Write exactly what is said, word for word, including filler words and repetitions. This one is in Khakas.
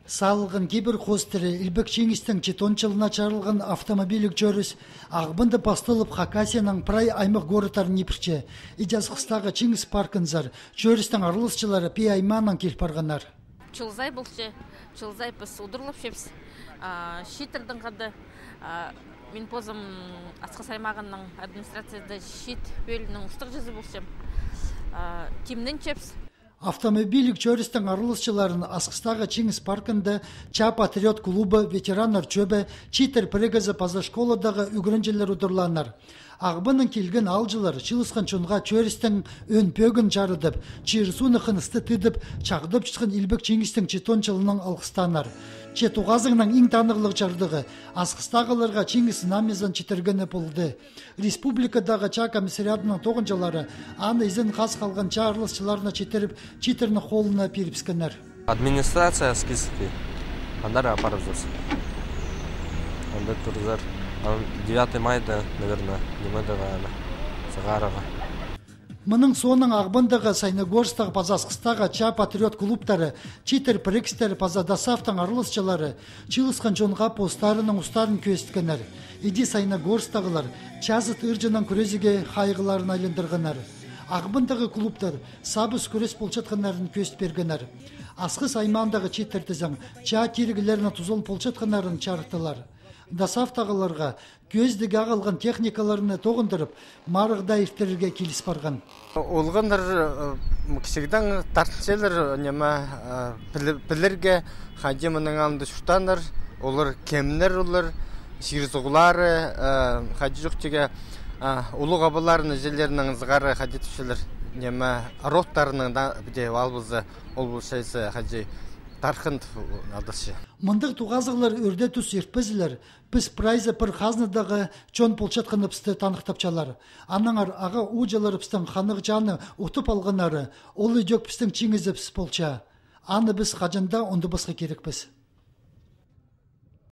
Салылған кибір хоостыра Илбек Чиңістің читон чылына чарылған автомобильліг чӧріс Ағбанда пасталып, Хакасияның прай аймах городтарын ибірче. Иди Асхыстағы Чиңіс паркынзар чӧрістің араласчылары Пии аймаанаң кил парғаннар. Чыл сай полча, чыл сай піс удурлапчабыс. А, чииттернең хада, а, мин позым Асхыс аймағының администрацияда чиит пӧлиинің устағҷызы полчам. А, тимненчебіс. Автомобильліг чӧрістің араласчыларын Асхыстағы Чиңіс паркында «Чаа патриот» клубы, ветераннар чӧбі, чииттер пірігізі паза школадағы ӱгренҷілер удурлааннар. Ағбаннаң килген аалҷылар чыылысхан чонға чӧрістің ӧӧн пӧгін чарыдып, чир-сууны хыныстығ тыдып, чағдапчатхан Илбек Чиңістің читон чылынаң алғыстааннар. Че тоғазығның иң танығлығ чардығы — Асхыстағыларға Чиңіс Знамязын читіргені полды. Республикадағы чаа комиссариадының тоғынҷылары аны изен хас халған чаа араласчыларына читіріп, чииттерні холына пирібіскеннер. Администрация Аскизский. Андар апарыбызар. Анда турзар. Ам девятый майда, наверное, ниме дее аны сығарарға. Мының соонаң Ағбандағы, Саяногорсктағы паза Асхыстағы «Чаа патриот» клубтары, чииттер пірігістері паза ДОСААФтың араласчылары чыылысхан чонға постарының устарын кӧзіткеннер. Иди Саяногорсктағылар чазыт ырҷынаң кӱрезіге хайығларын айландырғаннар. Ағбандағы клубтар сабыс кӱрес полчатханнарын кӧзіт пиргеннер. Асхыс аймаандағы чииттер тізең чаа тиріглерінің тузаланып полчатханнарын чарыттылар. ДОСААФтағыларға кӧзідіг ағылған техникаларны тоғындырып, марығда иртірерге киліс парған. Олғаннар, э, кічігдең тартынчалар, ниме, э, пілі-, пілерге, хайди мының алнында чуртааннар, олар кемнер, олар, чир-суғлары, э, хайди чох тигі, э, улуғ абаларының, іҷелерінің сығара, хайди тіпчелер, ниме, родтарының даа, піди, албазы, ол полча, хайди, тархын тіп адалча. Мындағ тоғазығлар ӧрде тус иртпезелер. Піс прайзы пір хазнадағы чон полчатханыбысты таныхтапчалар. Аннаңар аға-ууҷаларыбыстың ханығ чааны утып алғаннары ол идӧк пістің чиңізібіс полча. Аны піс хаҷан даа ундубасха кирекпіс.